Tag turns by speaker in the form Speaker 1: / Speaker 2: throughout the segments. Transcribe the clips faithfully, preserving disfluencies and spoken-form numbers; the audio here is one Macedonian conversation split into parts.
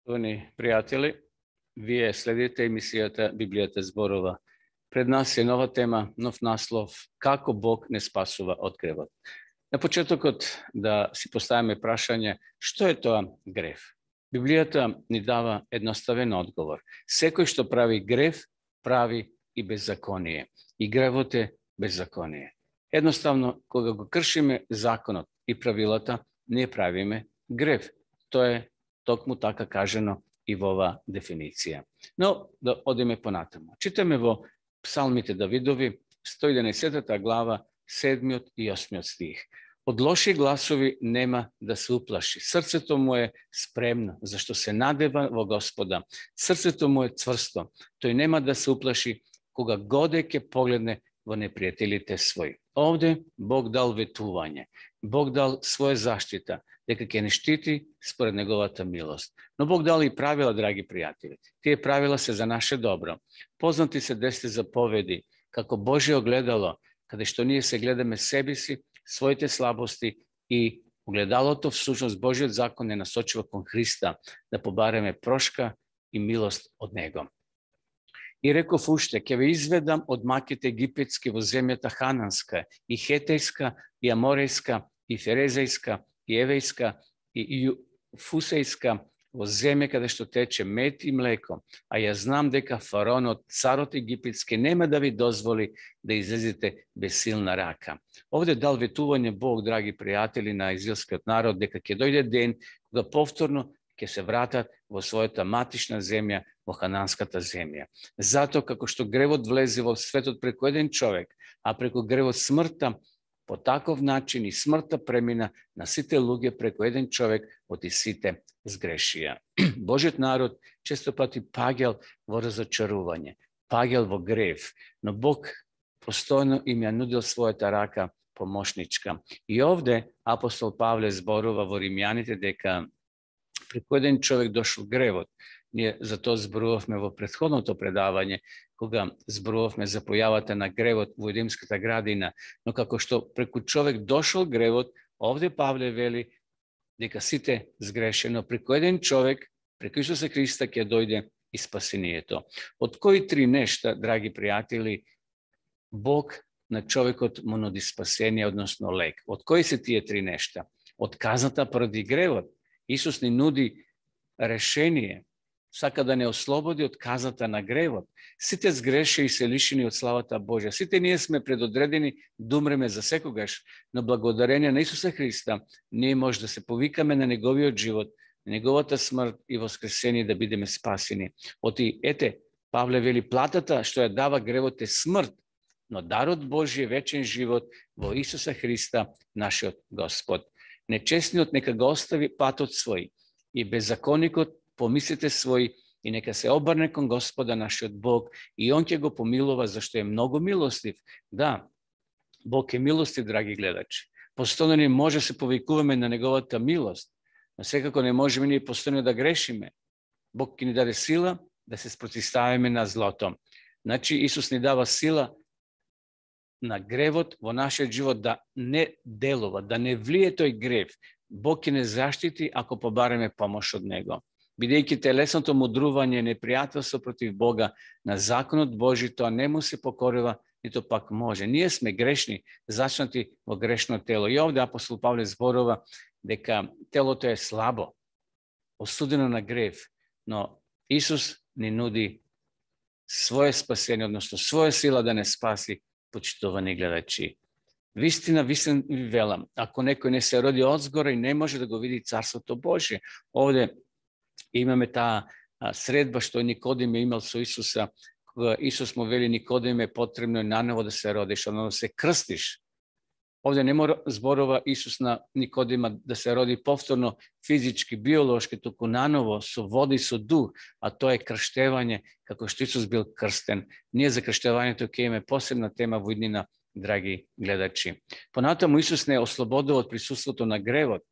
Speaker 1: Шановни пријатели, вие следите емисијата Библијата зборува. Пред нас е нова тема, нов наслов, како Бог не спасува од гревот. На почетокот да си поставиме прашање, што е тоа грев? Библијата ни дава едноставен одговор. Секој што прави грев, прави и беззаконие. И гревот е беззаконие. Едноставно, кога го кршиме законот и правилата, не правиме грев. Тоа е токму така кажено и во ова дефиниција. Но да одиме понатаму. Читаме во Псалмите Давидови, сто и единаесета глава, седмиот и осмиот стих. Од лоши гласови нема да се уплаши. Срцето му е спремно, зашто се надева во Господа. Срцето му е цврсто. Тој нема да се уплаши кога годе ќе погледне во непријателите своји. Овде Бог дал ветување. Бог дал своја заштита, дека ќе не штити според неговата милост. Но Бог дал и правила, драги пријатели. Тие правила се за наше добро. Познати се десет заповеди, како Божје огледало, каде што ние се гледаме себе си, своите слабости и огледалото всушност Божјиот закон е насочува кон Христа, да побареме прошка и милост од Него. И реков уште, ќе ве изведам од маките египетски во земјата хананска, и хетејска, и аморејска, и ферезејска, и евејска, и фусејска, во земја каде што тече мед и млеко, а ја знам дека фараонот, царот египетски, нема да ви дозволи да излезете без силна рака. Овде дал ветување Бог, драги пријатели, на израелскиот народ, дека ќе дојде ден кога повторно ќе се вратат во својата матична земја, во хананската земја. Затоа, како што гревот влезе во светот преку еден човек, а преку гревот смртта, по таков начин и смртта премина на сите луѓе преку еден човек, од и сите сгрешија. Божиот народ често пати паѓал во разочарување, паѓал во грев, но Бог постојано им ја нудил својата рака помошничка. И овде апостол Павле зборува во Римјаните дека преку еден човек дошол гревот. Ние за тоа зборувавме во претходното предавање, кога зборувавме за појавата на гревот во Едемската градина, но како што преку човек дошол гревот, овде Павле вели дека сите сгрешено, преку еден човек, преку Исуса Христа ќе дојде и спасението. Од кои три нешта, драги пријатели, Бог на човекот му нуди спасение, односно лек? Од кои се тие три нешта? Од казната поради гревот. Исус ни нуди решение, сака да не ослободи од казата на гревот. Сите сгреше и се лишени од славата Божја. Сите ние сме предодредени да умреме за секогаш, но благодарение на Исуса Христа ние може да се повикаме на неговиот живот, на неговата смрт и воскресение, да бидеме спасени. Оти, ете, Павле вели, платата што ја дава гревот е смрт, но дарот Божји е вечен живот во Исуса Христа, нашиот Господ. Нечестниот нека го остави патот свој и беззаконикот помислите свој и нека се обрне кон Господа нашиот Бог и Он ќе го помилува, зашто е многу милостив. Да, Бог е милостив, драги гледачи. Постојано не може се повикуваме на неговата милост, но секако не можеме ние постојано да грешиме. Бог ќе ни даде сила да се спротивставиме на злото. Значи Исус ни дава сила на гревот во нашиот живот да не делува, да не влие тој грев. Бог ќе не заштити ако побареме помош од Него. Бидејќи телесното мудрување, непријателство против Бога на законот Божи, тоа не му се покорува, нито пак може. Ние сме грешни, зачнати во грешно тело. И овде апостол Павле зборува дека телото е слабо, осудено на грев, но Исус ни нуди своје спасение, односно своја сила да не спаси, почитувани гледачи. Вистина, вистина ви велам, ако некој не се роди одзгора и не може да го види Царството Божие. Овде имаме таа средба што Никодим е имал со Исуса, кога Исус му вели Никодиме, потребно е наново да се родиш, односно да се крстиш. Овде не мора зборува Исус на Никодима да се роди повторно физички, биолошки, туку наново со вода и со дух, а тоа е крштевање, како што Исус бил крстен. Ние за крштевањето ќе имаме посебна тема во иднина, драги гледачи. Понатаму Исус не ослободува од присуството на гревот,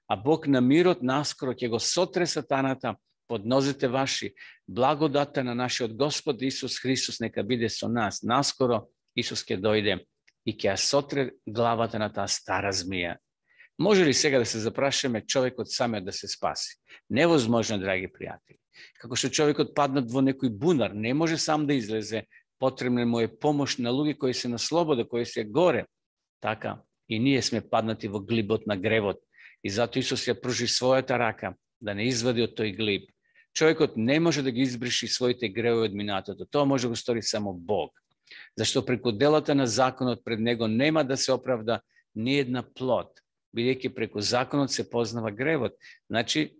Speaker 1: а Бог на мирот наскоро ќе го сотре сатаната под нозете ваши. Благодата на нашиот Господ Исус Христос нека биде со нас. Наскоро Исус ќе дојде и ќе ја сотре главата на таа стара змија. Може ли сега да се запрашаме човекот самиот да се спаси? Невозможно, драги пријатели. Како што човекот паднат во некој бунар, не може сам да излезе, потребна му е помош на луѓе кои се на слобода, кои се горе. Така, и ние сме паднати во глибот на гревот. И затоа Исус ја пружи својата рака да не извади од тој глиб. Човекот не може да ги избриши своите гревови од минатото. Тоа може да го стори само Бог. Зашто преку делата на законот пред него нема да се оправда ни една плод, бидејќи преку законот се познава гревот. Значи,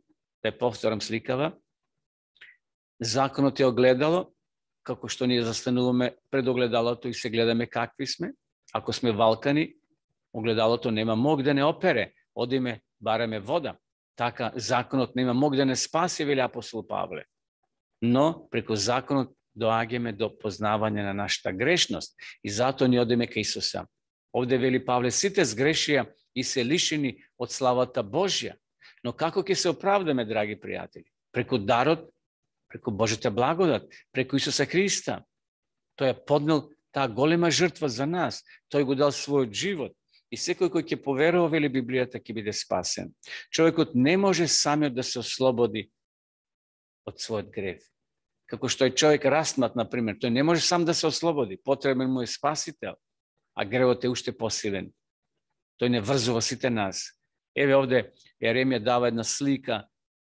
Speaker 1: да ја повторам сликава, законот е огледало, како што ние застануваме пред огледалото и се гледаме какви сме. Ако сме валкани, огледалото нема мог да не опере, одиме, бараме вода. Така, законот нема мог да не спаси, вели апостол Павле. Но, преку законот доаѓаме до познавање на нашата грешност и затоа ни одиме кај Исуса. Овде вели Павле, сите сгрешија и се лишени од славата Божја. Но како ќе се оправдаме, драги пријатели? Преку дарот, преку Божјата благодат, преку Исуса Христа. Тој ја поднел таа голема жртва за нас. Тој го дал својот живот. И секој кој ќе поверува, вели Библијата, ќе биде спасен. Човекот не може самиот да се ослободи од својот грев. Како што е човек растмат, например, тој не може сам да се ослободи. Потребен му е спасител, а гревот е уште посилен. Тој не врзува сите нас. Еве овде Еремија дава една слика,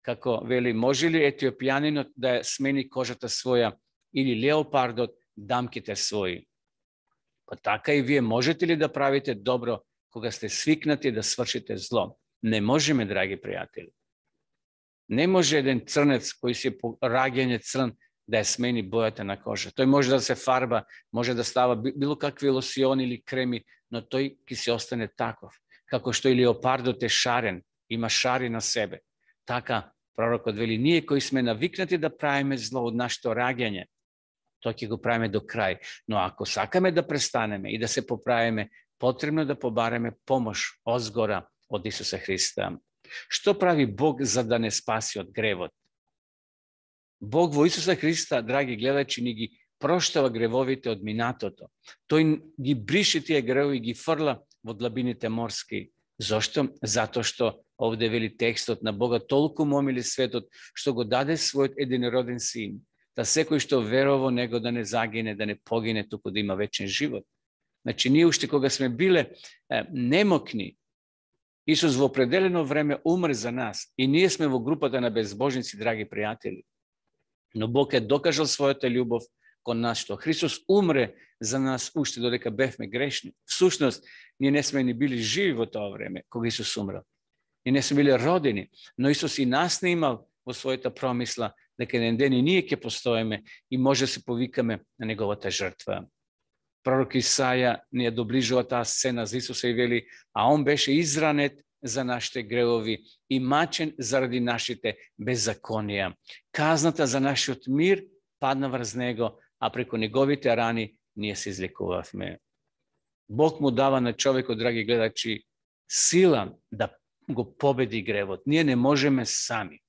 Speaker 1: како вели, може ли етиопијанинот да смени кожата своја или леопардот дамките своји? Па така и вие можете ли да правите добро кога сте свикнати да свршите зло? Не можеме, драги пријатели. Не може еден црнец кој си по раѓање црн да ја смени бојата на кожа. Тој може да се фарба, може да става било какви лосиони или креми, но тој ќе се остане таков. Како што и леопардот е шарен, има шари на себе. Така, пророкот вели, ние кои сме навикнати да правиме зло од нашето раѓање, тоа ќе го правиме до крај. Но ако сакаме да престанеме и да се поправиме, потребно да побареме помош озгора од Исуса Христа. Што прави Бог за да не спаси од гревот? Бог во Исуса Христа, драги гледачи, ни ги проштава гревовите од минатото. Тој ги брише тие гревови и ги фрла во длабините морски. Зошто? Затоа што овде вели текстот на Бога толку му омили светот, што го даде својот единороден син, да секој што верува во него да не загине, да не погине, туку да има вечен живот. Значи, ние уште кога сме биле е, немокни, Исус во определено време умре за нас и ние сме во групата на безбожници, драги пријатели. Но Бог е докажал својата љубов кон нас, што Христос умре за нас уште додека бевме грешни. Всушност, ние не сме ни били живи во тоа време, кога Исус умрел. Ние не сме били родени, но Исус и нас не имал во својата промисла дека еден ден и ние ќе постоеме и може да се повикаме на неговата жртва. Пророк Исаја ни ја доближува таа сцена за Исуса и вели, а он беше изранет за нашите гревови и мачен заради нашите беззаконија. Казната за нашиот мир падна врз него, а преку неговите рани ние се излекувавме. Бог му дава на човекот, драги гледачи, сила да го победи гревот. Ние не можеме сами.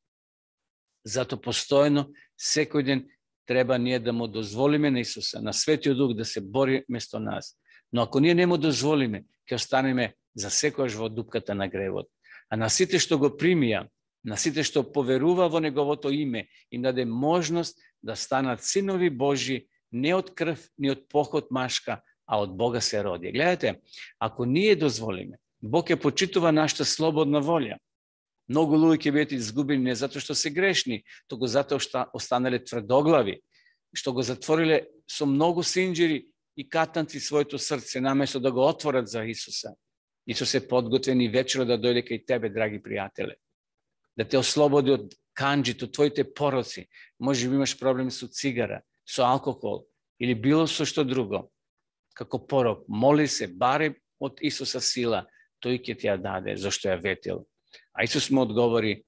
Speaker 1: Зато постојано, секој ден, треба ние да му дозволиме на Исуса, на Светиот Дух да се бори место нас. Но ако ние не му дозволиме, ќе останеме за секојаш во дупката на гревот. А на сите што го примија, на сите што поверува во неговото име, им даде можност да станат синови Божи, не од крв, ни од поход машка, а од Бога се роди. Гледате, ако ние дозволиме, Бог ќе почитува нашата слободна волја. Многу луѓе ќе бидат изгубени не затоа што се грешни, туку затоа што останале тврдоглави, што го затвориле со многу синџири и катанци своето срце, наместо да го отворат за Исуса. Исус е подготвен и вечера да дојде кај тебе, драги пријателе. Да те ослободи од канџито, твоите пороци. Може би имаш проблем со цигара, со алкохол или било со што друго. Како порок, моли се, баре од Исуса сила, тој ќе ти ја даде, зашто ја ветил. А Исус му одговори,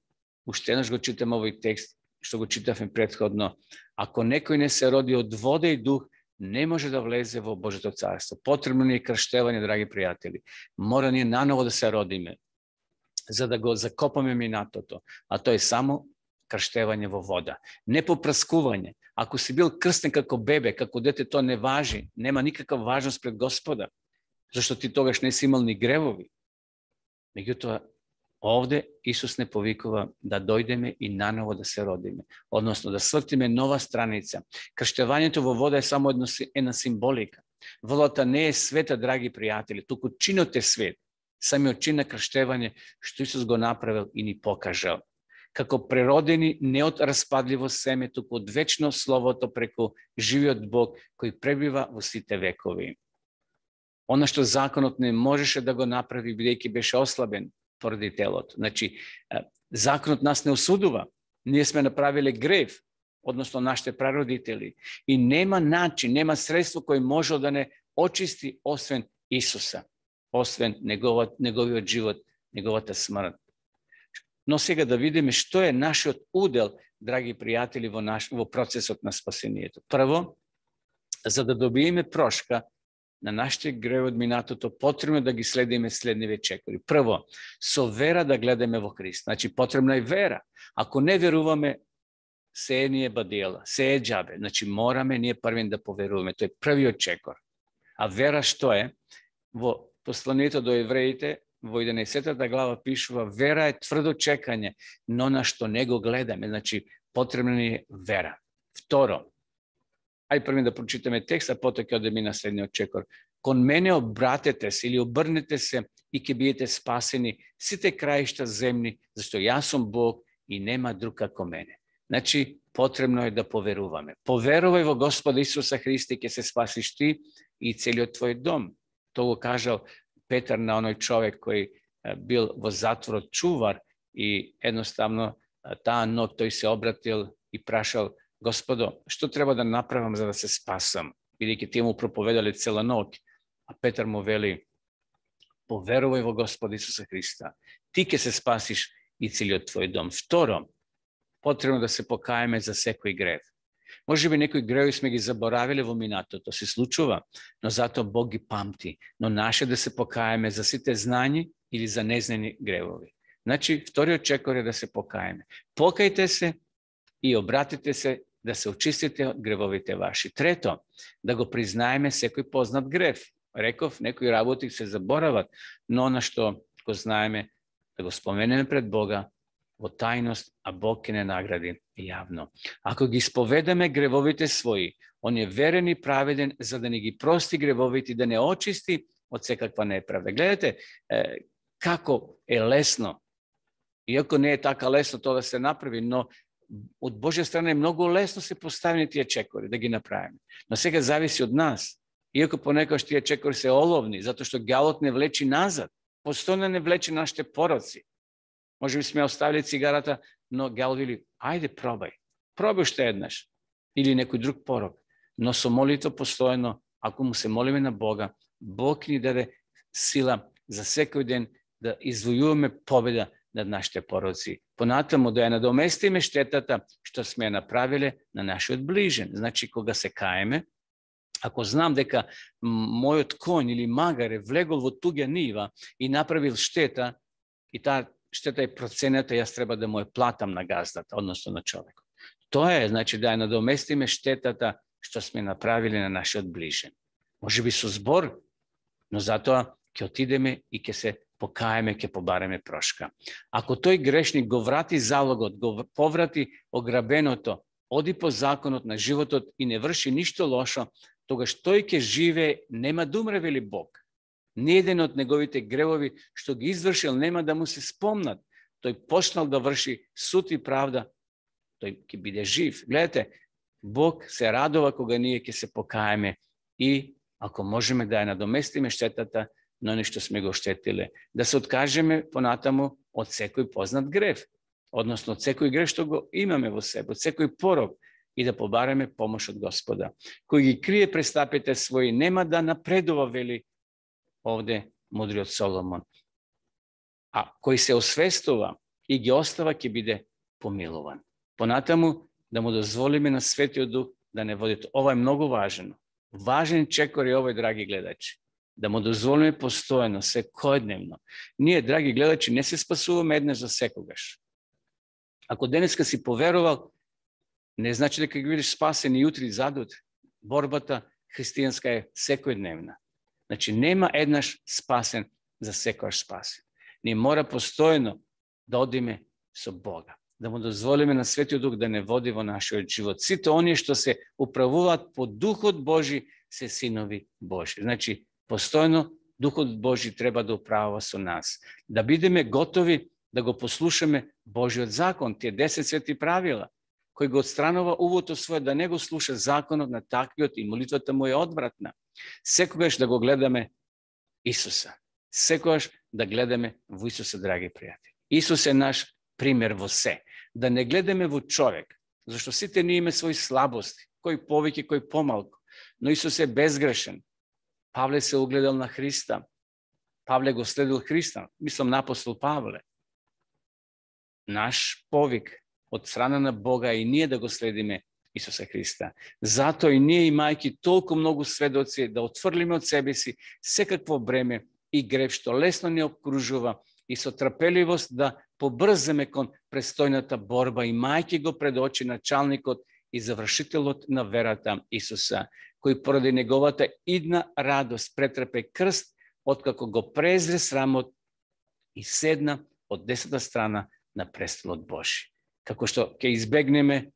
Speaker 1: уште еднаш го читам овој текст, што го читавме претходно, ако некој не се роди од вода и дух, не може да влезе во Божјото царство. Потребно ни е крштевање, драги пријатели. Мора ние наново да се родиме, за да го закопаме минатото, а тоа е само крштевање во вода. Не попраскување. Ако си бил крстен како бебе, како дете, тоа не важи, нема никаква важност пред Господа, зашто ти тогаш не си имал ни гревови. Меѓутоа, овде Исус не повикува да дојдеме и наново да се родиме, односно да свртиме нова страница. Крштевањето во вода е само една символика. Водата не е света, драги пријатели, туку чинот е свет. Самиот чин на крштевање што Исус го направил и ни покажал. Како преродени не од распадливо семе, туку од вечно Словото преку живиот Бог кој пребива во сите векови. Она што законот не можеше да го направи, бидејќи беше ослабен поради телото. Значи, законот нас не осудува. Ние сме направиле грев, односно нашите прародители. И нема начин, нема средство кој може да не очисти освен Исуса, освен неговиот, неговиот живот, неговата смрт. Но сега да видиме што е нашиот удел, драги пријатели, во, наш, во процесот на спасението. Прво, за да добиеме прошка на нашите греви од минатото, потребно да ги следиме следниве чекори. Прво, со вера да гледаме во Христ. Значи, потребна е вера. Ако не веруваме, се е ние бадела, се е џабе. Значи, мораме ние првен да поверуваме. Тој е првиот чекор. А вера што е? Во посланието до евреите, во единаесеттата глава пишува, вера е тврдо чекање, но на што не го гледаме. Значи, потребна ни е вера. Второ, ај први да прочитаме текст, а потоа ќе одеме на следниот чекор. Кон мене обратете се или обрнете се и ќе бидете спасени сите краишта земни, зашто јас сум Бог и нема друг како мене. Значи, потребно е да поверуваме. Поверувај во Господа Исуса Христа и ќе се спасиш ти и целиот твој дом. Тоа го кажал Петар на оној човек кој бил во затворот чувар и едноставно таа ноќ тој се обратил и прашал: Господо, што треба да направам за да се спасам? Бидејќи тие му проповедале цела ноќ. А Петар му вели: поверувај во Господа Исуса Христа. Ти ќе се спасиш и целиот твој дом. Второ, потребно да се покаеме за секој грев. Може би некои греви сме ги заборавиле во минатото, се случува, но затоа Бог ги памти. Но наше да се покаеме за сите знани или за незнани гревови. Значи, вториот чекор е да се покаеме. Покајте се и обратите се да се очистите од гревовите ваши. Трето, да го признаеме секој познат грев. Реков, некои работи се заборават, но на што го знаеме, да го споменеме пред Бога во тајност, а Бог ќе не награди јавно. Ако ги исповедаме гревовите своји, Он е верен и праведен за да не ги прости гревовите и да не очисти од секаква неправда. Гледате е, како е лесно, иако не е така лесно тоа да се направи, но од Божја страна е многу лесно се поставени тие чекори, да ги направиме. Но сега зависи од нас. Иако понекогаш тие чекори се оловни, затоа што ѓавот не влечи назад, постојано не влечи нашите пороци. Може би сме оставили цигарата, но ѓавот вели: ајде пробај, пробај уште еднаш, или некој друг порок. Но со молитва постојано, ако му се молиме на Бога, Бог ни даде сила за секој ден да извојуваме победа над нашите пороци. Понатаму да ја надоместиме штетата што сме ја направиле на нашиот ближен. Значи, кога се каеме, ако знам дека мојот конј или магар е влегол во туѓа нива и направил штета, и таа штета е проценета, јас треба да му ја платам на газдата, односно на човекот. Тоа е, значи, да ја надоместиме штетата што сме направиле на нашиот ближен. Може би со збор, но затоа ќе отидеме и ќе се покаеме, ќе побареме прошка. Ако тој грешник го врати залогот, го поврати ограбеното, оди по законот на животот и не врши ништо лошо, тогаш тој ќе живее, нема да умре, вели Бог. Ниеден од неговите гревови што ги извршил нема да му се спомнат. Тој почнал да врши суд и правда, тој ќе биде жив. Гледате, Бог се радува кога ние ќе се покаеме и ако можеме да ја надоместиме штетата, но нешто сме го штетиле, да се откажеме понатаму од секој познат грев, односно од секој грев што го имаме во себе, од секој порок, и да побареме помош од Господа. Кој ги крие престапите своји, нема да напредува, вели овде мудриот Соломон. А кој се освестува и ги остава, ќе биде помилуван. Понатаму да му дозволиме на Светиот Дух да не води. Ова е многу важно. Важен чекор е овој, драги гледачи. Да му дозволиме постојано, секојдневно. Ние, драги гледачи, не се спасуваме еднаш за секогаш. Ако денеска си поверувал, не значи дека ги бидеш спасен и утре и задутре. Борбата христијанска е секојдневна. Значи, нема еднаш спасен за секојаш спасен. Ни мора постојано да одиме со Бога, да му дозволиме на Светиот Дух да не води во нашиот живот. Сите оние што се управуваат по Духот Божи се синови Божи. Значи, постојано Духот Божи треба да управува со нас. Да бидеме готови да го послушаме Божиот закон, тие десет свети правила, кој го отстранува увото своје да не го слуша законот на таквиот и молитвата му е одвратна. Секогаш да го гледаме Исуса. Секогаш да гледаме во Исуса, драги пријатели. Исус е наш пример во се. Да не гледаме во човек, зашто сите ние имаме своји слабости, кој повеќе, кој помалку. Но Исус е безгрешен. Павле се угледал на Христа. Павле го следил Христа. Мислам на апостол Павле. Наш повик од страна на Бога и ние да го следиме Исуса Христа. Зато и ние, имајќи толку многу сведоци, да отфрлиме од себе си секакво бреме и грев што лесно ни обкружува и со трпеливост да побрземе кон престојната борба, имајќи го пред очи началникот и завршителот на верата Исуса, кој поради неговата идна радост претрпе крст, откако го презре срамот и седна од десната страна на престолот Божи. Како што ќе избегнеме,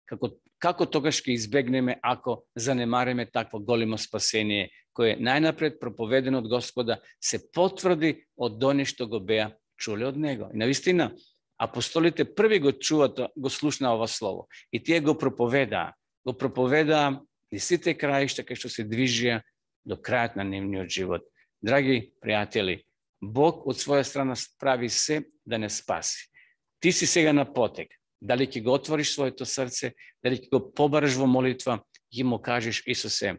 Speaker 1: како, како тогаш ќе избегнеме ако занемариме такво големо спасение, кое најнапред проповедено од Господа се потврди од оние што го беа чуле од Него. И навистина, апостолите први го чуваат, го слушнаа ова слово. И тие го проповедаа. Го проповедаа и сите краишта кај што се движија до крајот на нивниот живот. Драги пријатели, Бог од своја страна прави се да не спаси. Ти си сега на потек. Дали ќе го отвориш своето срце, дали ќе го побараш во молитва, ќе му кажеш: Исусе,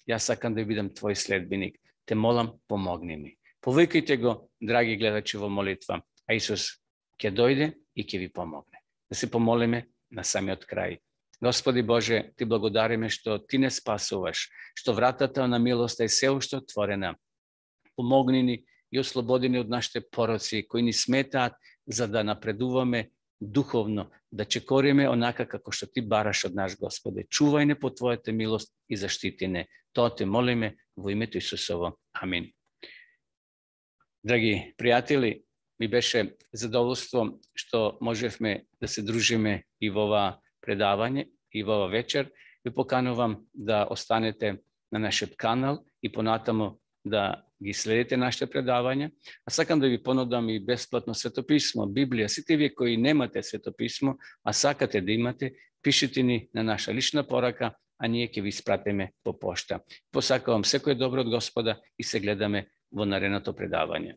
Speaker 1: јас сакам да бидам твој следбеник. Те молам, помогни ми. Повикајте го, драги гледачи, во молитва, а Исус ќе дојде и ќе ви помогне. Да се помолиме на самиот крај. Господи Боже, ти благодариме што ти не спасуваш, што вратата на милоста е се уште отворена. Помогни ни и ослободи ни од нашите пороци кои ни сметаат за да напредуваме духовно, да чекориме онака како што ти бараш од наш Господе. Чувај не по твојата милост и заштити не. Тоа те молиме во името Исусово. Амин. Драги пријатели, ми беше задоволство што можевме да се дружиме и во ова предавање и во ова вечер. Ви поканувам да останете на нашиот канал и понатаму да ги следите нашите предавања. А сакам да ви понудам и бесплатно светописмо, Библија. Сите вие кои немате светописмо, а сакате да имате, пишете ни на наша лична порака, а ние ќе ви испратиме по пошта. Посакувам секој добро од Господа и се гледаме во наредното предавање.